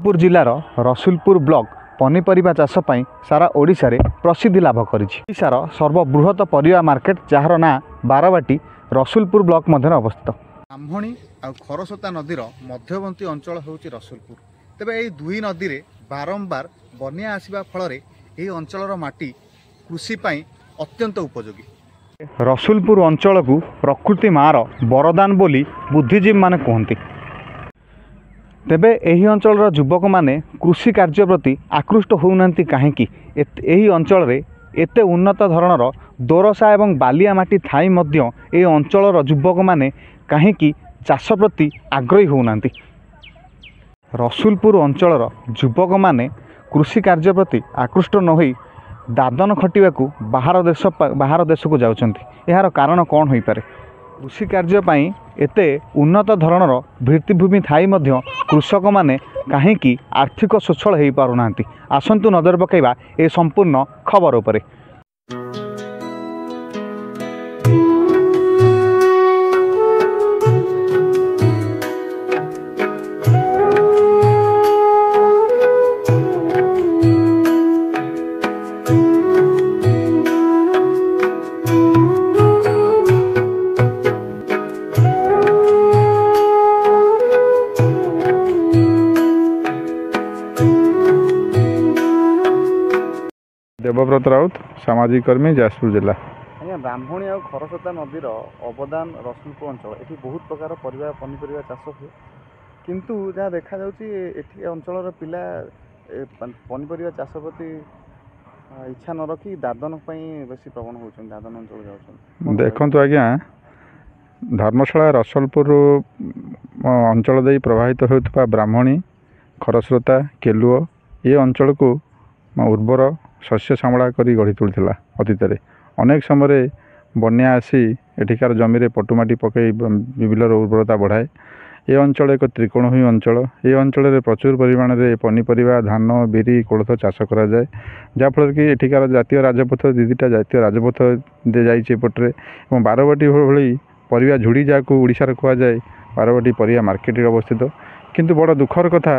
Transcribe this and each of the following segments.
ଯାଜପୁର ଜିଲ୍ଲାର ରସୁଲପୁର ବ୍ଲକ ପନିପରିବା ଚାଷ ପାଇଁ ସାରା ଓଡ଼ିଶାରେ ପ୍ରସିଦ୍ଧି ଲାଭ କରିଛି। ଓଡ଼ିଶାର ସର୍ବବୃହତ ପରିବା ମାର୍କେଟ, ଯାହାର ନାଁ ବାରବାଟୀ, ରସୁଲପୁର ବ୍ଲକ ମଧ୍ୟରେ ଅବସ୍ଥିତ। ବ୍ରାହ୍ମଣୀ ଆଉ ଖରସ୍ରୋତା ନଦୀର ମଧ୍ୟବର୍ତ୍ତୀ ଅଞ୍ଚଳ ହେଉଛି ରସୁଲପୁର। ତେବେ ଏହି ଦୁଇ ନଦୀରେ ବାରମ୍ବାର ବନ୍ୟା ଆସିବା ଫଳରେ ଏହି ଅଞ୍ଚଳର ମାଟି କୃଷି ପାଇଁ ଅତ୍ୟନ୍ତ ଉପଯୋଗୀ। ରସୁଲପୁର ଅଞ୍ଚଳକୁ ପ୍ରକୃତି ମାର ବରଦାନ ବୋଲି ବୁଦ୍ଧିଜୀବୀମାନେ କୁହନ୍ତି। ତେବେ ଏହି ଅଞ୍ଚଳର ଯୁବକମାନେ କୃଷି କାର୍ଯ୍ୟ ପ୍ରତି ଆକୃଷ୍ଟ ହେଉନାହାନ୍ତି କାହିଁକି? ଏହି ଅଞ୍ଚଳରେ ଏତେ ଉନ୍ନତ ଧରଣର ଦୋରସା ଏବଂ ବାଲିଆ ମାଟି ଥାଇ ମଧ୍ୟ ଏହି ଅଞ୍ଚଳର ଯୁବକମାନେ କାହିଁକି ଚାଷ ପ୍ରତି ଆଗ୍ରହୀ ହେଉନାହାନ୍ତି? ରସୁଲପୁର ଅଞ୍ଚଳର ଯୁବକମାନେ କୃଷି କାର୍ଯ୍ୟ ପ୍ରତି ଆକୃଷ୍ଟ ନ ହୋଇ ଦାଦନ ଖଟିବାକୁ ବାହାର ଦେଶକୁ ଯାଉଛନ୍ତି। ଏହାର କାରଣ କ'ଣ ହୋଇପାରେ? କୃଷି କାର୍ଯ୍ୟ ପାଇଁ ଏତେ ଉନ୍ନତ ଧରଣର ଭିତ୍ତିଭୂମି ଥାଇ ମଧ୍ୟ କୃଷକମାନେ କାହିଁକି ଆର୍ଥିକ ସ୍ୱଚ୍ଛଳ ହୋଇପାରୁନାହାନ୍ତି? ଆସନ୍ତୁ ନଜର ପକାଇବା ଏ ସମ୍ପୂର୍ଣ୍ଣ ଖବର ଉପରେ। ଦେବବ୍ରତ ରାଉତ, ସାମାଜିକ କର୍ମୀ, ଯାଜପୁର ଜିଲ୍ଲା। ଆଜ୍ଞା, ବ୍ରାହ୍ମଣୀ ଆଉ ଖରସ୍ରୋତା ନଦୀର ଅବଦାନ ରସୁଲପୁର ଅଞ୍ଚଳ। ଏଠି ବହୁତ ପ୍ରକାର ପରିବା ପନିପରିବା ଚାଷ ହୁଏ, କିନ୍ତୁ ଯାହା ଦେଖାଯାଉଛି ଏଠି ଅଞ୍ଚଳର ପିଲା ପନିପରିବା ଚାଷ ପ୍ରତି ଇଚ୍ଛା ନ ରଖି ଦାଦନ ପାଇଁ ବେଶୀ ପ୍ରବଣ ହେଉଛନ୍ତି, ଦାଦନ ଅଞ୍ଚଳ ଯାଉଛନ୍ତି। ଦେଖନ୍ତୁ ଆଜ୍ଞା, ଧର୍ମଶାଳା ରସଲପୁର ଅଞ୍ଚଳ ଦେଇ ପ୍ରବାହିତ ହେଉଥିବା ବ୍ରାହ୍ମଣୀ, ଖରସ୍ରୋତା, କେଲୁଅ ଏ ଅଞ୍ଚଳକୁ ଉର୍ବର ଶସ୍ୟ ଶ୍ୟାମଳା କରି ଗଢ଼ି ତୋଳିଥିଲା। ଅତୀତରେ ଅନେକ ସମୟରେ ବନ୍ୟା ଆସି ଏଠିକାର ଜମିରେ ପଟୁମାଟି ପକାଇ ବିଲର ଉର୍ବରତା ବଢ଼ାଏ। ଏ ଅଞ୍ଚଳ ଏକ ତ୍ରିକୋଣଭୂମି ଅଞ୍ଚଳ। ଏ ଅଞ୍ଚଳରେ ପ୍ରଚୁର ପରିମାଣରେ ପନିପରିବା, ଧାନ, ବିରି, କୋଳଥ ଚାଷ କରାଯାଏ, ଯାହାଫଳରେ କି ଏଠିକାର ଜାତୀୟ ରାଜପଥ, ଦୁଇଟା ଜାତୀୟ ରାଜପଥ ଯାଇଛି ଏପଟରେ, ଏବଂ ବାରବାଟୀ ଭଳି ପରିବା ଝୁଡ଼ି ଯାହାକୁ ଓଡ଼ିଶାରେ କୁହାଯାଏ, ବାରବାଟୀ ପରିବା ମାର୍କେଟରେ ଅବସ୍ଥିତ। କିନ୍ତୁ ବଡ଼ ଦୁଃଖର କଥା,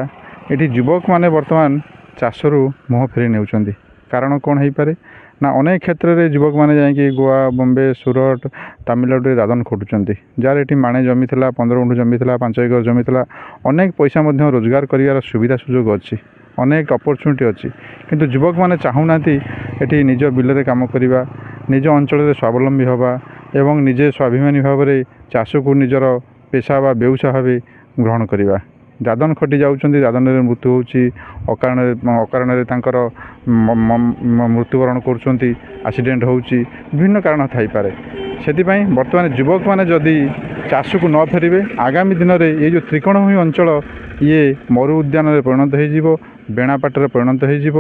ଏଠି ଯୁବକମାନେ ବର୍ତ୍ତମାନ ଚାଷରୁ ମୁହଁ ଫେରାଇ ନେଉଛନ୍ତି। କାରଣ କ'ଣ ହେଇପାରେ ନା, ଅନେକ କ୍ଷେତ୍ରରେ ଯୁବକମାନେ ଯାଇକି ଗୋଆ, ବମ୍ବେ, ସୁରଟ, ତାମିଲନାଡ଼ୁରେ ଦାଦନ ଖଟୁଛନ୍ତି। ଯାହାର ଏଠି ମାଣେ ଜମି ଥିଲା, 15 ଗୁଣ୍ଠ ଜମି ଥିଲା, 5 ଏକର ଜମି ଥିଲା, ଅନେକ ପଇସା ମଧ୍ୟ ରୋଜଗାର କରିବାର ସୁବିଧା ସୁଯୋଗ ଅଛି, ଅନେକ ଅପରଚ୍ୟୁନିଟି ଅଛି, କିନ୍ତୁ ଯୁବକମାନେ ଚାହୁଁନାହାନ୍ତି ଏଠି ନିଜ ବିଲରେ କାମ କରିବା, ନିଜ ଅଞ୍ଚଳରେ ସ୍ୱାବଲମ୍ବୀ ହେବା ଏବଂ ନିଜେ ସ୍ୱାଭିମାନୀ ଭାବରେ ଚାଷକୁ ନିଜର ପେସା ବା ବେଉସା ଭାବେ ଗ୍ରହଣ କରିବା। ଦାଦନ ଖଟି ଯାଉଛନ୍ତି, ଦାଦନରେ ମୃତ୍ୟୁ ହେଉଛି, ଅକାରଣରେ ତାଙ୍କର ମୃତ୍ୟୁବରଣ କରୁଛନ୍ତି, ଆକ୍ସିଡେଣ୍ଟ ହେଉଛି, ବିଭିନ୍ନ କାରଣ ଥାଇପାରେ। ସେଥିପାଇଁ ବର୍ତ୍ତମାନ ଯୁବକମାନେ ଯଦି ଚାଷକୁ ନ ଫେରିବେ, ଆଗାମୀ ଦିନରେ ଏଇ ଯେଉଁ ତ୍ରିକୋଣଭୂମି ଅଞ୍ଚଳ ଇଏ ମରୁ ଉଦ୍ୟାନରେ ପରିଣତ ହୋଇଯିବ, ବେଣାପାଟରେ ପରିଣତ ହୋଇଯିବ,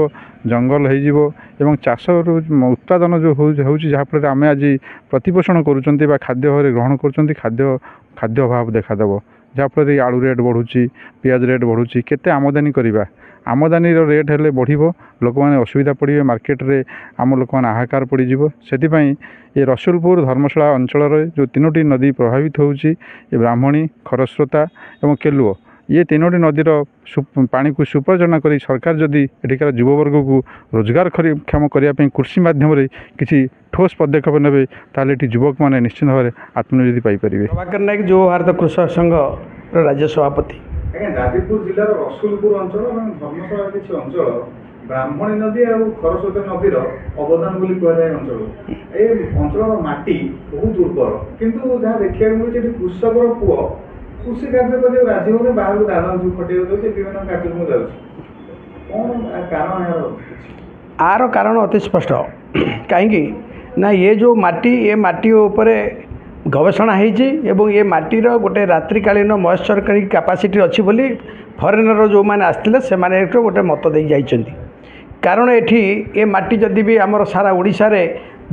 ଜଙ୍ଗଲ ହୋଇଯିବ ଏବଂ ଚାଷରୁ ଉତ୍ପାଦନ ଯେଉଁ ହେଉଛି, ଯାହାଫଳରେ ଆମେ ଆଜି ପ୍ରତିପୋଷଣ କରୁଛନ୍ତି ବା ଖାଦ୍ୟ ଭାବରେ ଗ୍ରହଣ କରୁଛନ୍ତି, ଖାଦ୍ୟ ଅଭାବ ଦେଖାଦେବ, ଯାହାଫଳରେ ଆଳୁ ରେଟ୍ ବଢ଼ୁଛି, ପିଆଜ ରେଟ୍ ବଢ଼ୁଛି। କେତେ ଆମଦାନୀ କରିବା? ଆମଦାନୀର ରେଟ୍ ହେଲେ ବଢ଼ିବ, ଲୋକମାନେ ଅସୁବିଧା ପଡ଼ିବେ, ମାର୍କେଟରେ ଆମ ଲୋକମାନେ ହାହାକାର ପଡ଼ିଯିବ। ସେଥିପାଇଁ ଏ ରସୁଲପୁର ଧର୍ମଶାଳା ଅଞ୍ଚଳରେ ଯେଉଁ ତିନୋଟି ନଦୀ ପ୍ରଭାବିତ ହେଉଛି, ଏ ବ୍ରାହ୍ମଣୀ, ଖରସ୍ରୋତା ଏବଂ କେଲୁଅ, ଇଏ ତିନୋଟି ନଦୀର ପାଣିକୁ ସୁପରିଚାଳନା କରି ସରକାର ଯଦି ଏଠିକାର ଯୁବବର୍ଗକୁ ରୋଜଗାର କ୍ଷମ କରିବା ପାଇଁ କୃଷି ମାଧ୍ୟମରେ କିଛି ଠୋସ୍ ପଦକ୍ଷେପ ନେବେ, ତାହେଲେ ଏଠି ଯୁବକମାନେ ନିଶ୍ଚିତ ଭାବରେ ଆତ୍ମନିଯୁକ୍ତି ପାଇପାରିବେ। ପ୍ରଭାକର ନାୟକ, ଯୁବ ଭାରତ କୃଷକ ସଂଘର ରାଜ୍ୟ ସଭାପତି। ଆଜ୍ଞା, ଯାଜପୁର ଜିଲ୍ଲାର ରସୁଲପୁର ଅଞ୍ଚଳ ଏବଂ ଧର୍ମଶାଳାର କିଛି ଅଞ୍ଚଳ ବ୍ରାହ୍ମଣୀ ନଦୀ ଆଉ ଖରସ୍ରୋତା ନଦୀର ଅବଦାନ ବୋଲି କୁହାଯାଏ ଅଞ୍ଚଳକୁ। ଏ ଅଞ୍ଚଳର ମାଟି ବହୁତ ଉର୍ବର, କିନ୍ତୁ ଯାହା ଦେଖିବାକୁ ମିଳୁଛି ଏଠି କୃଷକର ପୁଅ କୃଷି କାର୍ଯ୍ୟ କରିବାକୁ ରାଜି ହେଉନି, ବାହାରକୁ ଦାଦନ ଯେଉଁ ଖଟିବାକୁ ଯାଉଛି, ବିଭିନ୍ନ କାର୍ଯ୍ୟକ୍ରମ ଯାଉଛି। କ'ଣ କାରଣ ଏହାର? ଆର କାରଣ ଅତି ସ୍ପଷ୍ଟ। କାହିଁକି ନା ଏ ଯେଉଁ ମାଟି, ଏ ମାଟି ଉପରେ ଗବେଷଣା ହେଇଛି ଏବଂ ଏ ମାଟିର ଗୋଟେ ରାତ୍ରିକାଳୀନ ମଏଶ୍ଚର କାପାସିଟି ଅଛି ବୋଲି ଫରେନର ଯେଉଁମାନେ ଆସିଥିଲେ ସେମାନେ ଏଠୁ ଗୋଟେ ମତ ଦେଇ ଯାଇଛନ୍ତି। କାରଣ ଏଠି ଏ ମାଟି ଯଦି ବି ଆମର ସାରା ଓଡ଼ିଶାରେ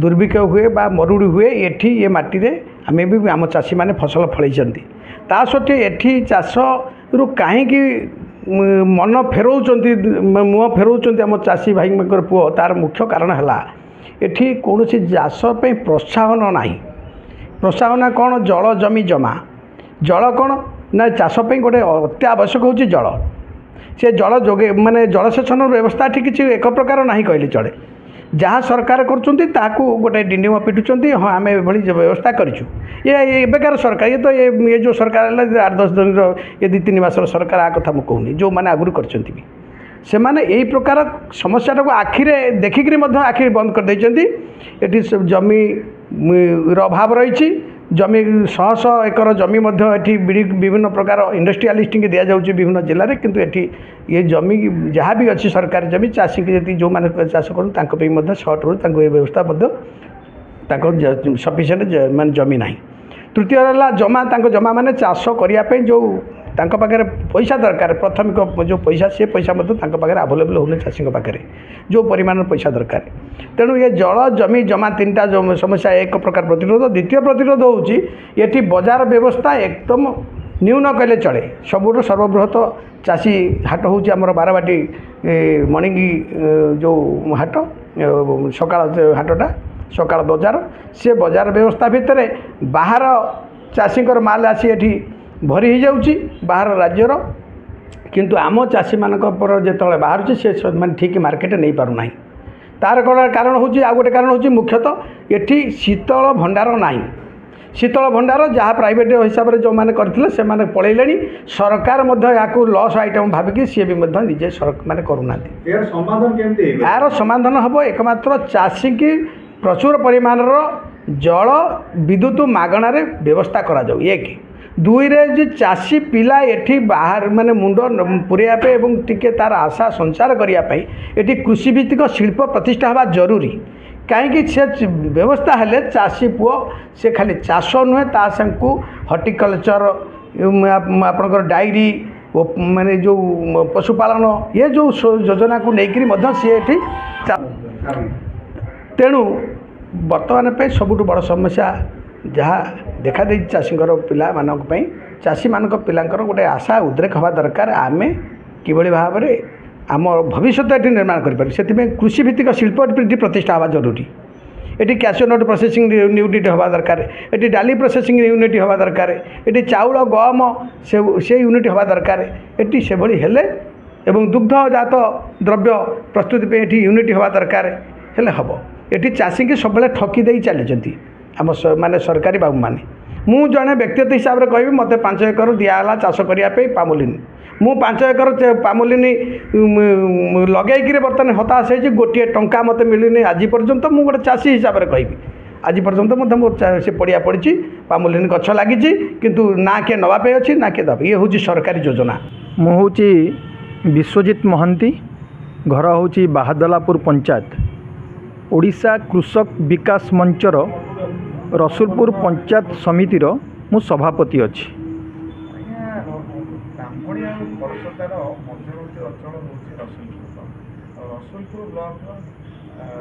ଦୁର୍ଭିକ୍ଷ ହୁଏ ବା ମରୁଡ଼ି ହୁଏ, ଏଠି ଏ ମାଟିରେ ଆମେ ବି ଆମ ଚାଷୀମାନେ ଫସଲ ଫଳେଇଛନ୍ତି। ତା ସତ୍ତ୍ୱେ ଏଠି ଚାଷରୁ କାହିଁକି ମନ ଫେରଉଛନ୍ତି, ମୁହଁ ଫେରଉଛନ୍ତି ଆମ ଚାଷୀ ଭାଇଙ୍କର ପୁଅ, ତା'ର ମୁଖ୍ୟ କାରଣ ହେଲା ଏଠି କୌଣସି ଚାଷ ପାଇଁ ପ୍ରୋତ୍ସାହନ ନାହିଁ। ପ୍ରୋତ୍ସାହନ କ'ଣ? ଜଳ, ଜମି, ଜମା। ଜଳ କ'ଣ ନା ଚାଷ ପାଇଁ ଗୋଟେ ଅତ୍ୟାବଶ୍ୟକ ହେଉଛି ଜଳ। ସେ ଜଳ ଯୋଗେ ମାନେ ଜଳସେଚନର ବ୍ୟବସ୍ଥା ଏଠି କିଛି ଏକ ପ୍ରକାର ନାହିଁ କହିଲେ ଚଳେ। ଯାହା ସରକାର କରୁଛନ୍ତି ତାହାକୁ ଗୋଟେ ଡିଣ୍ଡିମ ପିଟୁଛନ୍ତି, ହଁ ଆମେ ଏଭଳି ବ୍ୟବସ୍ଥା କରିଛୁ। ଏ ଏବେକାର ସରକାର, ଇଏ ତ ଏ ଯେଉଁ ସରକାର ହେଲା 8-10 ଦିନର, ଏ 2-3 ମାସର ସରକାର, ଆ କଥା ମୁଁ କହୁନି, ଯେଉଁମାନେ ଆଗରୁ କରିଛନ୍ତି ବି ସେମାନେ ଏଇ ପ୍ରକାର ସମସ୍ୟାଟାକୁ ଆଖିରେ ଦେଖିକିରି ମଧ୍ୟ ଆଖି ବନ୍ଦ କରିଦେଇଛନ୍ତି। ଏଠି ଜମିର ଅଭାବ ରହିଛି। ଜମି ଶହ ଶହ ଏକର ଜମି ମଧ୍ୟ ଏଠି ବିଭିନ୍ନ ପ୍ରକାର ଇଣ୍ଡଷ୍ଟ୍ରିଆଲିଷ୍ଟଙ୍କୁ ଦିଆଯାଉଛି ବିଭିନ୍ନ ଜିଲ୍ଲାରେ, କିନ୍ତୁ ଏଠି ଏ ଜମି ଯାହା ବି ଅଛି ସରକାରୀ ଜମି, ଚାଷୀକି ଯେତିକି ଯେଉଁମାନେ ଚାଷ କରନ୍ତି ତାଙ୍କ ପାଇଁ ମଧ୍ୟ ସର୍ଟ ରହୁଛି, ତାଙ୍କୁ ଏ ବ୍ୟବସ୍ଥା ମଧ୍ୟ ତାଙ୍କ ସଫିସିଏଣ୍ଟ ମାନେ ଜମି ନାହିଁ। ତୃତୀୟ ହେଲା ଜମା, ତାଙ୍କ ଜମା ମାନେ ଚାଷ କରିବା ପାଇଁ ଯେଉଁ ତାଙ୍କ ପାଖରେ ପଇସା ଦରକାର, ପ୍ରାଥମିକ ଯେଉଁ ପଇସା, ସେ ପଇସା ମଧ୍ୟ ତାଙ୍କ ପାଖରେ ଆଭେଲେବଲ୍ ହେଉନି ଚାଷୀଙ୍କ ପାଖରେ ଯେଉଁ ପରିମାଣର ପଇସା ଦରକାର। ତେଣୁ ଏ ଜଳ, ଜମି, ଜମା ତିନିଟା ସମସ୍ୟା ଏକ ପ୍ରକାର ପ୍ରତିରୋଧ। ଦ୍ୱିତୀୟ ପ୍ରତିରୋଧ ହେଉଛି ଏଠି ବଜାର ବ୍ୟବସ୍ଥା ଏକଦମ ନ୍ୟୁନ କହିଲେ ଚଳେ। ସବୁଠୁ ସର୍ବବୃହତ ଚାଷୀ ହାଟ ହେଉଛି ଆମର ବାରବାଟୀ ମଣିଙ୍ଗି ଯେଉଁ ହାଟ, ସକାଳ ହାଟଟା, ସକାଳ ବଜାର। ସେ ବଜାର ବ୍ୟବସ୍ଥା ଭିତରେ ବାହାର ଚାଷୀଙ୍କର ମାଲ ଆସି ଏଠି ଭରି ହେଇଯାଉଛି ବାହାର ରାଜ୍ୟର, କିନ୍ତୁ ଆମ ଚାଷୀମାନଙ୍କ ପରେ ଯେତେବେଳେ ବାହାରୁଛି ସେ ମାନେ ଠିକ୍ ମାର୍କେଟ ନେଇପାରୁନାହିଁ। ତାର କାରଣ ହେଉଛି, ଆଉ ଗୋଟେ କାରଣ ହେଉଛି ମୁଖ୍ୟତଃ ଏଠି ଶୀତଳ ଭଣ୍ଡାର ନାହିଁ। ଶୀତଳ ଭଣ୍ଡାର ଯାହା ପ୍ରାଇଭେଟ୍ ହିସାବରେ ଯେଉଁମାନେ କରିଥିଲେ ସେମାନେ ପଳେଇଲେଣି। ସରକାର ମଧ୍ୟ ଏହାକୁ ଲସ୍ ଆଇଟମ୍ ଭାବିକି ସିଏ ବି ମଧ୍ୟ ନିଜେ ମାନେ କରୁନାହାନ୍ତି। ଏହାର ସମାଧାନ ହେବ ଏକମାତ୍ର ଚାଷୀକି ପ୍ରଚୁର ପରିମାଣର ଜଳ, ବିଦ୍ୟୁତ ମାଗଣାରେ ବ୍ୟବସ୍ଥା କରାଯାଉ, ଏକ। ଦୁଇରେ ଯେ ଚାଷୀ ପିଲା ଏଠି ବାହାର ମାନେ ମୁଣ୍ଡ ପୁରେଇବା ପାଇଁ ଏବଂ ଟିକେ ତା'ର ଆଶା ସଞ୍ଚାର କରିବା ପାଇଁ ଏଠି କୃଷିଭିତ୍ତିକ ଶିଳ୍ପ ପ୍ରତିଷ୍ଠା ହେବା ଜରୁରୀ। କାହିଁକି ସେ ବ୍ୟବସ୍ଥା ହେଲେ ଚାଷୀ ପୁଅ ସେ ଖାଲି ଚାଷ ନୁହେଁ, ତା ସାଙ୍ଗକୁ ହର୍ଟିକଲଚର, ଆପଣଙ୍କର ଡାଇରୀ, ମାନେ ଯେଉଁ ପଶୁପାଳନ, ଏ ଯେଉଁ ଯୋଜନାକୁ ନେଇକରି ମଧ୍ୟ ସିଏ ଏଠି। ତେଣୁ ବର୍ତ୍ତମାନ ପାଇଁ ସବୁଠୁ ବଡ଼ ସମସ୍ୟା ଯାହା ଦେଖାଦେଇଛି ଚାଷୀଙ୍କର ପିଲାମାନଙ୍କ ପାଇଁ, ଚାଷୀମାନଙ୍କ ପିଲାଙ୍କର ଗୋଟେ ଆଶା ଉଦ୍ରେକ ହେବା ଦରକାର, ଆମେ କିଭଳି ଭାବରେ ଆମ ଭବିଷ୍ୟତ ଏଠି ନିର୍ମାଣ କରିପାରିବୁ। ସେଥିପାଇଁ କୃଷିଭିତ୍ତିକ ଶିଳ୍ପ ଏଠି ପ୍ରତିଷ୍ଠା ହେବା ଜରୁରୀ। ଏଠି କ୍ୟାସିଓନଟ୍ ପ୍ରୋସେସିଂ ୟୁନିଟ୍ ହେବା ଦରକାର, ଏଠି ଡାଲି ପ୍ରୋସେସିଂ ୟୁନିଟ୍ ହେବା ଦରକାର, ଏଠି ଚାଉଳ ଗହମ ସେ ୟୁନିଟ୍ ହେବା ଦରକାର। ଏଠି ସେଭଳି ହେଲେ ଏବଂ ଦୁଗ୍ଧଜାତ ଦ୍ରବ୍ୟ ପ୍ରସ୍ତୁତି ପାଇଁ ଏଠି ୟୁନିଟ୍ ହେବା ଦରକାର, ହେଲେ ହେବ। ଏଠି ଚାଷୀକି ସବୁବେଳେ ଠକି ଦେଇ ଚାଲିଛନ୍ତି ଆମ ମାନେ ସରକାରୀ ବାବୁମାନେ। ମୁଁ ଜଣେ ବ୍ୟକ୍ତିଗତ ହିସାବରେ କହିବି, ମୋତେ 5 ଏକର ଦିଆହେଲା ଚାଷ କରିବା ପାଇଁ ପାମୁଲିନି। ମୁଁ 5 ଏକର ପାମୁଲିନି ଲଗେଇକିରି ବର୍ତ୍ତମାନ ହତାଶ ହେଇଛି, ଗୋଟିଏ ଟଙ୍କା ମୋତେ ମିଳିନି ଆଜି ପର୍ଯ୍ୟନ୍ତ। ମୁଁ ଗୋଟେ ଚାଷୀ ହିସାବରେ କହିବି, ଆଜି ପର୍ଯ୍ୟନ୍ତ ମଧ୍ୟ ମୋର ସେ ପଡ଼ିଆ ପଡ଼ିଛି, ପାମୁଲିନି ଗଛ ଲାଗିଛି, କିନ୍ତୁ ନା କିଏ ନେବା ପାଇଁ ଅଛି ନା କିଏ ଦେବ। ଇଏ ହେଉଛି ସରକାରୀ ଯୋଜନା। ମୁଁ ହେଉଛି ବିଶ୍ୱଜିତ ମହାନ୍ତି, ଘର ହେଉଛି ବାହାଦଲାପୁର ପଞ୍ଚାୟତ। ଓଡ଼ିଶା କୃଷକ ବିକାଶ ମଞ୍ଚର ରସୁଲପୁର ପଞ୍ଚାୟତ ସମିତିର ମୁଁ ସଭାପତି ଅଛି। ବ୍ରାହ୍ମଣୀ ଆଉ ଖରସ୍ରୋତାର ମଧ୍ୟବର୍ତ୍ତୀ ଅଞ୍ଚଳ ହେଉଛି ରସୁଲପୁର ବ୍ଲକ। ରସୁଲପୁର ବ୍ଲକର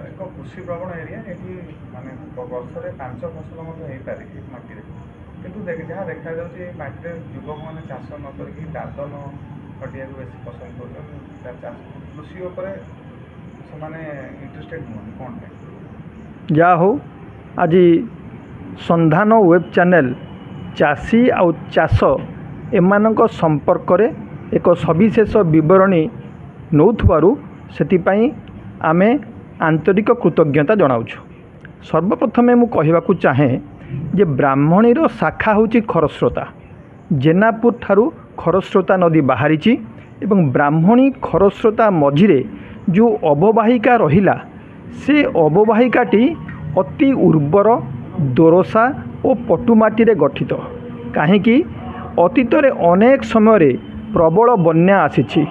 ଏକ କୃଷି ପ୍ରବଣ ଏରିଆ। ଏଠି ମାନେ ବର୍ଷରେ 5 ଫସଲ ମଧ୍ୟ ହେଇପାରେ ଏ ମାଟିରେ, କିନ୍ତୁ ଯାହା ଦେଖାଯାଉଛି ଏ ମାଟିରେ ଯୁବକମାନେ ଚାଷ ନ କରିକି ଦାଦନ ଖଟିବାକୁ ବେଶୀ ପସନ୍ଦ କରୁଛନ୍ତି। କୃଷି ଉପରେ ସେମାନେ ଇଣ୍ଟରେଷ୍ଟେଡ଼ ନୁହନ୍ତି, କ'ଣ ପାଇଁ? ଯାହା ହଉ, ଆଜି ସନ୍ଧାନ ୱେବ୍ ଚ୍ୟାନେଲ୍ ଚାଷୀ ଆଉ ଚାଷ ଏମାନଙ୍କ ସମ୍ପର୍କରେ ଏକ ସବିଶେଷ ବିବରଣୀ ନେଉଥିବାରୁ ସେଥିପାଇଁ ଆମେ ଆନ୍ତରିକ କୃତଜ୍ଞତା ଜଣାଉଛୁ। ସର୍ବପ୍ରଥମେ ମୁଁ କହିବାକୁ ଚାହେଁ ଯେ ବ୍ରାହ୍ମଣୀର ଶାଖା ହେଉଛି ଖରସ୍ରୋତା। ଜେନାପୁର ଠାରୁ ଖରସ୍ରୋତା ନଦୀ ବାହାରିଛି ଏବଂ ବ୍ରାହ୍ମଣୀ ଖରସ୍ରୋତା ମଝିରେ ଯେଉଁ ଅବବାହିକା ରହିଲା, ସେ ଅବବାହିକାଟି ଅତି ଉର୍ବର, ଦୋରସା ଓ ପଟୁମାଟିରେ ଗଠିତ। କାହିଁକି ଅତୀତରେ ଅନେକ ସମୟରେ ପ୍ରବଳ ବନ୍ୟା ଆସିଛି,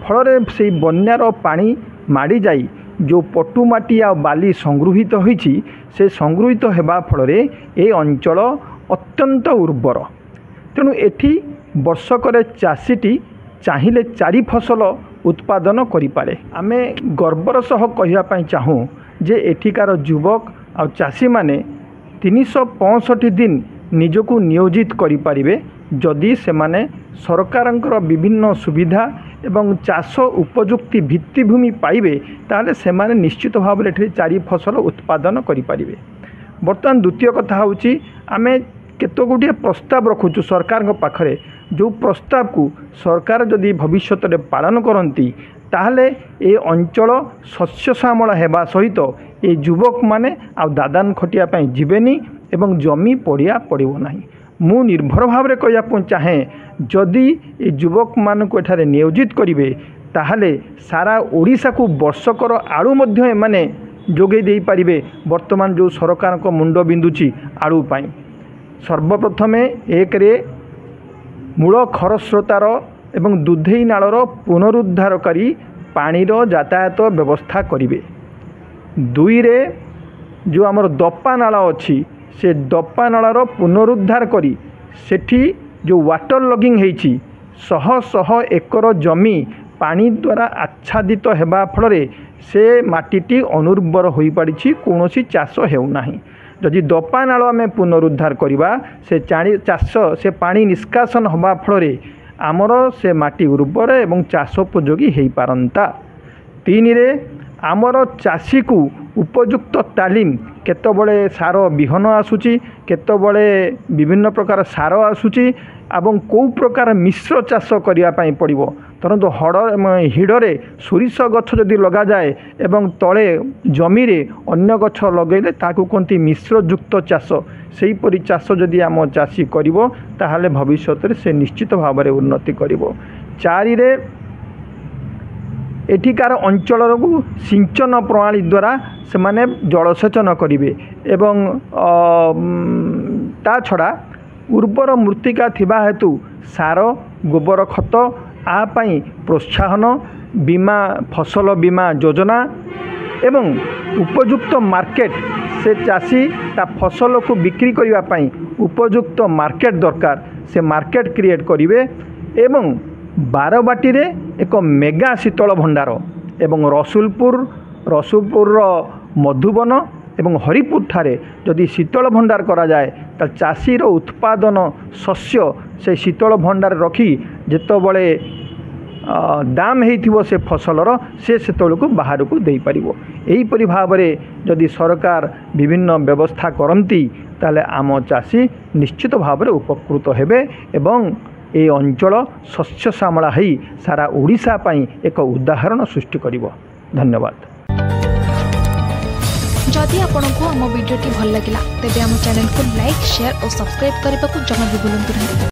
ଫଳରେ ସେଇ ବନ୍ୟାର ପାଣି ମାଡ଼ିଯାଇ ଯେଉଁ ପଟୁମାଟି ଆଉ ବାଲି ସଂଗୃହୀତ ହୋଇଛି, ସେ ସଂଗୃହୀତ ହେବା ଫଳରେ ଏ ଅଞ୍ଚଳ ଅତ୍ୟନ୍ତ ଉର୍ବର। ତେଣୁ ଏଠି ବର୍ଷକରେ ଚାଷୀଟି ଚାହିଁଲେ 4 ଫସଲ ଉତ୍ପାଦନ କରିପାରେ। ଆମେ ଗର୍ବର ସହ କହିବା ପାଇଁ ଚାହୁଁ ଯେ ଏଠିକାର ଯୁବକ ଆଉ ଚାଷୀମାନେ 365 ଦିନ ନିଜକୁ ନିୟୋଜିତ କରିପାରିବେ, ଯଦି ସେମାନେ ସରକାରଙ୍କର ବିଭିନ୍ନ ସୁବିଧା ଏବଂ ଚାଷ ଉପଯୁକ୍ତି ଭିତ୍ତିଭୂମି ପାଇବେ, ତାହେଲେ ସେମାନେ ନିଶ୍ଚିତ ଭାବରେ ଏଠି 4 ଫସଲ ଉତ୍ପାଦନ କରିପାରିବେ। ବର୍ତ୍ତମାନ ଦ୍ୱିତୀୟ କଥା ହେଉଛି, ଆମେ କେତେ ଗୁଡ଼ିଏ ପ୍ରସ୍ତାବ ରଖୁଛୁ ସରକାରଙ୍କ ପାଖରେ। ଯେଉଁ ପ୍ରସ୍ତାବକୁ ସରକାର ଯଦି ଭବିଷ୍ୟତରେ ପାଳନ କରନ୍ତି, ତାହେଲେ ଏ ଅଞ୍ଚଳ ଶସ୍ୟ ଶ୍ୟାମଳ ହେବା ସହିତ ଏ ଯୁବକମାନେ ଆଉ ଦାଦାନ ଖଟିବା ପାଇଁ ଯିବେନି ଏବଂ ଜମି ପଡ଼ିଆ ପଡ଼ିବ ନାହିଁ। ମୁଁ ନିର୍ଭର ଭାବରେ କହିବାକୁ ଚାହେଁ, ଯଦି ଏ ଯୁବକମାନଙ୍କୁ ଏଠାରେ ନିୟୋଜିତ କରିବେ, ତାହେଲେ ସାରା ଓଡ଼ିଶାକୁ ବର୍ଷକର ଆଳୁ ମଧ୍ୟ ଏମାନେ ଯୋଗାଇ ଦେଇପାରିବେ। ବର୍ତ୍ତମାନ ଯେଉଁ ସରକାରଙ୍କ ମୁଣ୍ଡ ବିନ୍ଧୁଛି ଆଳୁ ପାଇଁ, ସର୍ବପ୍ରଥମେ ଏକରେ ମୂଳ ଖରସ୍ରୋତାର ଏବଂ ଦୁଧେଇ ନାଳର ପୁନରୁଦ୍ଧାର କରି ପାଣିର ଯାତାୟାତ ବ୍ୟବସ୍ଥା କରିବେ। ଦୁଇରେ ଯେଉଁ ଆମର ଦପା ନାଳ ଅଛି, ସେ ଦପା ନାଳର ପୁନରୁଦ୍ଧାର କରି ସେଠି ଯେଉଁ ୱାଟର ଲଗିଂ ହେଇଛି, ଶହ ଶହ ଏକର ଜମି ପାଣି ଦ୍ୱାରା ଆଚ୍ଛାଦିତ ହେବା ଫଳରେ ସେ ମାଟିଟି ଅନୁର୍ବର ହୋଇପଡ଼ିଛି, କୌଣସି ଚାଷ ହେଉନାହିଁ। ଯଦି ଦପା ନାଳ ଆମେ ପୁନରୁଦ୍ଧାର କରିବା, ସେ ଚାଷ ସେ ପାଣି ନିଷ୍କାସନ ହେବା ଫଳରେ ଆମର ସେ ମାଟି ଉର୍ବର ଏବଂ ଚାଷ ଉପଯୋଗୀ ହୋଇପାରନ୍ତା। ତିନିରେ ଆମର ଚାଷୀକୁ ଉପଯୁକ୍ତ ତାଲିମ, କେତେବେଳେ ସାର ବିହନ ଆସୁଛି, କେତେବେଳେ ବିଭିନ୍ନ ପ୍ରକାର ସାର ଆସୁଛି ଏବଂ କେଉଁ ପ୍ରକାର ମିଶ୍ର ଚାଷ କରିବା ପାଇଁ ପଡ଼ିବ। ଧରନ୍ତୁ ହଡ଼ ହିଡ଼ରେ ସୋରିଷ ଗଛ ଯଦି ଲଗାଯାଏ ଏବଂ ତଳେ ଜମିରେ ଅନ୍ୟ ଗଛ ଲଗାଇଲେ, ତାହାକୁ କୁହନ୍ତି ମିଶ୍ରଯୁକ୍ତ ଚାଷ। ସେହିପରି ଚାଷ ଯଦି ଆମ ଚାଷୀ କରିବ, ତାହେଲେ ଭବିଷ୍ୟତରେ ସେ ନିଶ୍ଚିତ ଭାବରେ ଉନ୍ନତି କରିବ। ଚାରିରେ ଏଠିକାର ଅଞ୍ଚଳକୁ ସିଞ୍ଚନ ପ୍ରଣାଳୀ ଦ୍ୱାରା ସେମାନେ ଜଳସେଚନ କରିବେ ଏବଂ ତା ଛଡ଼ା ଉର୍ବର ମୃତ୍ତିକା ଥିବା ହେତୁ ସାର, ଗୋବର ଖତ ଆ ପାଇଁ ପ୍ରୋତ୍ସାହନ, ବୀମା, ଫସଲ ବୀମା ଯୋଜନା ଏବଂ ଉପଯୁକ୍ତ ମାର୍କେଟ। ସେ ଚାଷୀ ତା ଫସଲକୁ ବିକ୍ରି କରିବା ପାଇଁ ଉପଯୁକ୍ତ ମାର୍କେଟ ଦରକାର, ସେ ମାର୍କେଟ କ୍ରିଏଟ୍ କରିବେ ଏବଂ ବାରବାଟୀରେ ଏକ ମେଗା ଶୀତଳ ଭଣ୍ଡାର ଏବଂ ରସୁଲପୁରର ମଧୁବନ ଏବଂ ହରିପୁରଠାରେ ଯଦି ଶୀତଳ ଭଣ୍ଡାର କରାଯାଏ, ତାହେଲେ ଚାଷୀର ଉତ୍ପାଦନ ଶସ୍ୟ ସେ ଶୀତଳ ଭଣ୍ଡାର ରଖି ଯେତେବେଳେ ଦାମ ହେଇଥିବ ସେ ଫସଲର, ସେ ସେତେବେଳକୁ ବାହାରକୁ ଦେଇପାରିବ। ଏହିପରି ଭାବରେ ଯଦି ସରକାର ବିଭିନ୍ନ ବ୍ୟବସ୍ଥା କରନ୍ତି, ତାହେଲେ ଆମ ଚାଷୀ ନିଶ୍ଚିତ ଭାବରେ ଉପକୃତ ହେବେ ଏବଂ ଏ ଅଞ୍ଚଳ ଶସ୍ୟ ଶ୍ୟାମଳା ହେଇ ସାରା ଓଡ଼ିଶା ପାଇଁ ଏକ ଉଦାହରଣ ସୃଷ୍ଟି କରିବ। ଧନ୍ୟବାଦ। ଯଦି ଆପଣଙ୍କୁ ଆମ ଭିଡ଼ିଓଟି ଭଲ ଲାଗିଲା, ତେବେ ଆମ ଚ୍ୟାନେଲକୁ ଲାଇକ୍, ସେୟାର ଓ ସବସ୍କ୍ରାଇବ୍ କରିବାକୁ ଜମା ବି ଭୁଲନ୍ତୁ ନାହିଁ।